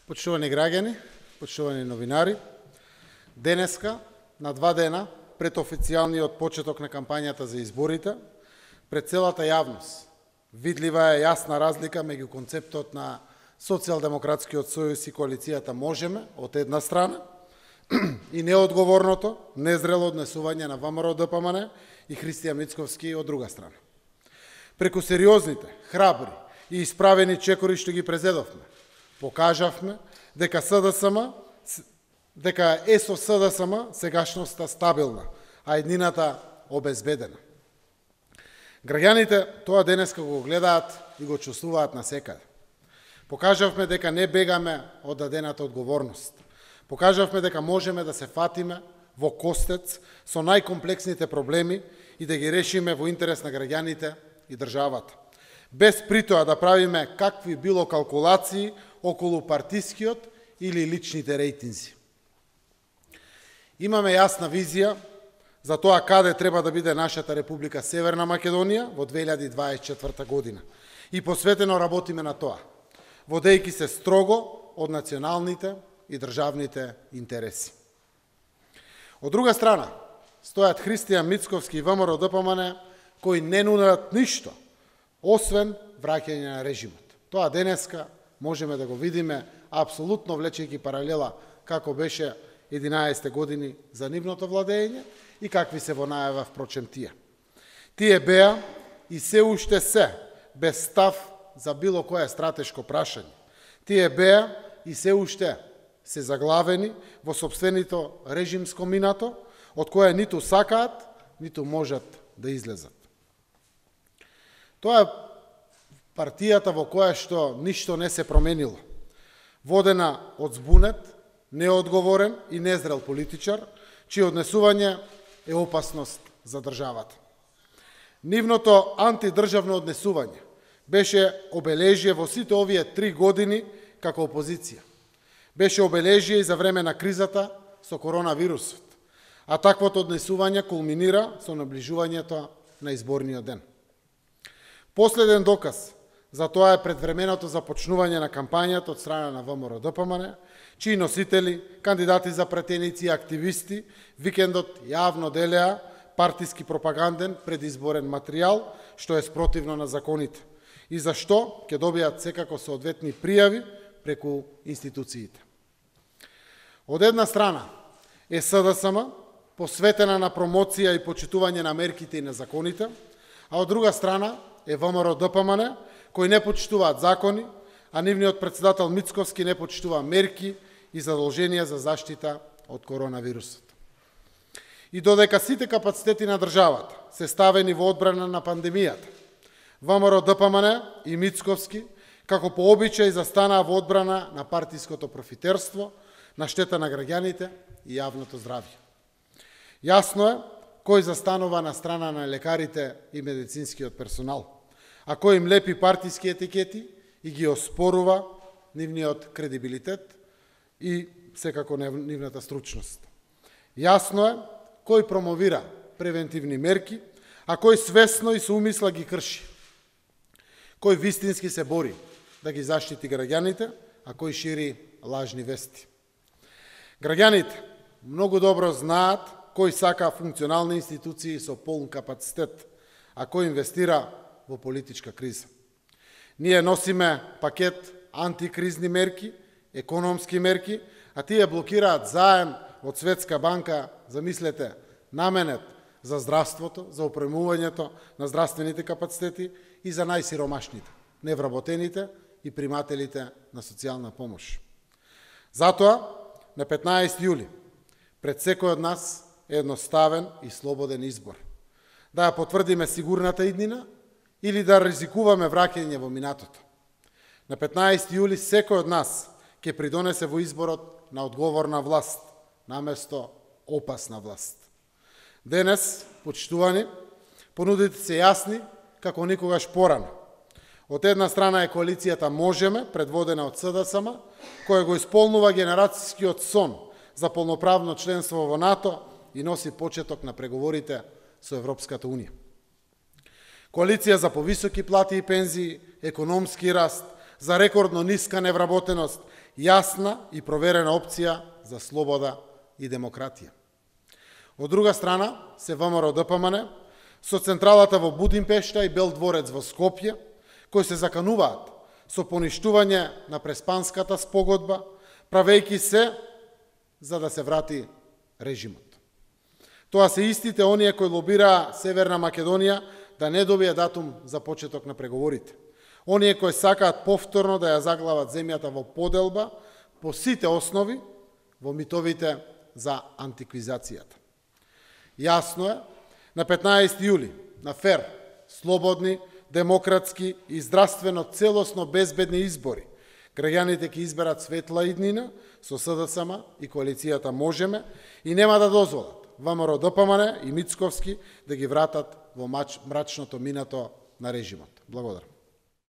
Почитувани граѓани, почитувани новинари, денеска, на 2 дена пред официјалниот почеток на кампањата за изборите, пред целата јавност, видлива е јасна разлика меѓу концептот на Социјалдемократскиот сојуз и коалицијата Можеме, од една страна, и неодговорното, незрело однесување на ВМРО-ДПМН и Христијан Мицковски од друга страна. Преку сериозните, храбри и исправени чекори што ги презедовме, покажавме дека е со СДСМ сегашноста стабилна, а еднината обезбедена. Граѓаните тоа денеска го гледаат и го чувствуваат насекаде. Покажавме дека не бегаме од дадената одговорност. Покажавме дека можеме да се фатиме во костец со најкомплексните проблеми и да ги решиме во интерес на граѓаните и државата, без притоа да правиме какви било калкулации околу партискиот или личните рейтинзи. Имаме јасна визија за тоа каде треба да биде нашата Република Северна Македонија во 2024 година и посветено работиме на тоа, водејќи се строго од националните и државните интереси. Од друга страна, стојат Христијан Мицковски и ВМРО-ДПМН кои не нудат ништо, освен враќање на режимот. Тоа денеска можеме да го видиме апсолутно влечејќи паралела како беше 11 години за нивното владење и какви се во најава впрочем тие. Тие беа и се уште се без став за било кое стратешко прашање. Тие беа и се уште се заглавени во сопственото режимско минато, од кое ниту сакаат, ниту можат да излезат. Тоа е партијата во која што ништо не се променило, водена од збунет, неодговорен и незрел политичар, чие однесување е опасност за државата. Нивното антидржавно однесување беше обележие во сите овие 3 години како опозиција. Беше обележие и за време на кризата со коронавирусот, а таквото однесување кулминира со наближувањето на изборниот ден. Последен доказ за тоа е предвременото започнување на кампањата од страна на ВМРО-ДПМН, чии носители, кандидати за пратеници и активисти, викендот јавно делеа партиски пропаганден предизборен материјал, што е спротивно на законите, и за што ќе добијат секако соодветни пријави преку институциите. Од една страна е СДСМ, посветена на промоција и почитување на мерките и на законите, а од друга страна е ВМРО-ДПМН, кои не почитуваат закони, а нивниот председател Мицковски не почитува мерки и задолженија за заштита од коронавирусот. И додека сите капацитети на државата се ставени во одбрана на пандемијата, ВМРО-ДПМН и Мицковски, како по обичај, застанаа во одбрана на партиското профитерство, на штета на граѓаните и јавното здравје. Јасно е кој застанува на страна на лекарите и медицинскиот персонал, а кој им лепи партиски етикети и ги оспорува нивниот кредибилитет и секако нивната стручност. Јасно е кој промовира превентивни мерки, а кој свесно и со умисла ги крши. Кој вистински се бори да ги заштити граѓаните, а кој шири лажни вести. Граѓаните многу добро знаат кој сака функционални институции со полн капацитет, а кој инвестира во политичка криза. Ние носиме пакет антикризни мерки, економски мерки, а тие блокираат заем од Светска банка, замислете, наменет за здравството, за опремувањето на здравствените капацитети и за најсиромашните, невработените и примателите на социјална помош. Затоа, на 15 јули, пред секој од нас е едноставен и слободен избор. Да ја потврдиме сигурната иднина или да ризикуваме враќање во минатото. На 15 јули секој од нас ќе придонесе во изборот на одговорна власт, наместо опасна власт. Денес, почитувани, понудите се јасни како никогаш порано. Од една страна е коалицијата Можеме, предводена од СДСМ, која го исполнува генерацијскиот сон за полноправно членство во НАТО и носи почеток на преговорите со Европската Унија. Коалиција за повисоки плати и пензии, економски раст, за рекордно ниска невработеност јасна и проверена опција за слобода и демократија. Од друга страна, се ВМРО ДПМН со централата во Будимпешта и Бел дворец во Скопје, кои се закануваат со поништување на Преспанската спогодба, правејќи се за да се врати режимот. Тоа се истите оние кои лобираа Северна Македонија да не добие датум за почеток на преговорите. Оние кои сакаат повторно да ја заглават земјата во поделба по сите основи во митовите за антиквизацијата. Јасно е, на 15 јули, на фер, слободни, демократски и здравствено целосно безбедни избори, граѓаните ќе изберат светла иднина со СДСМ и коалицијата Можеме и нема да дозволат ВМРО ДПМН и Мицковски да ги вратат во мрачното минато на режимот. Благодарам.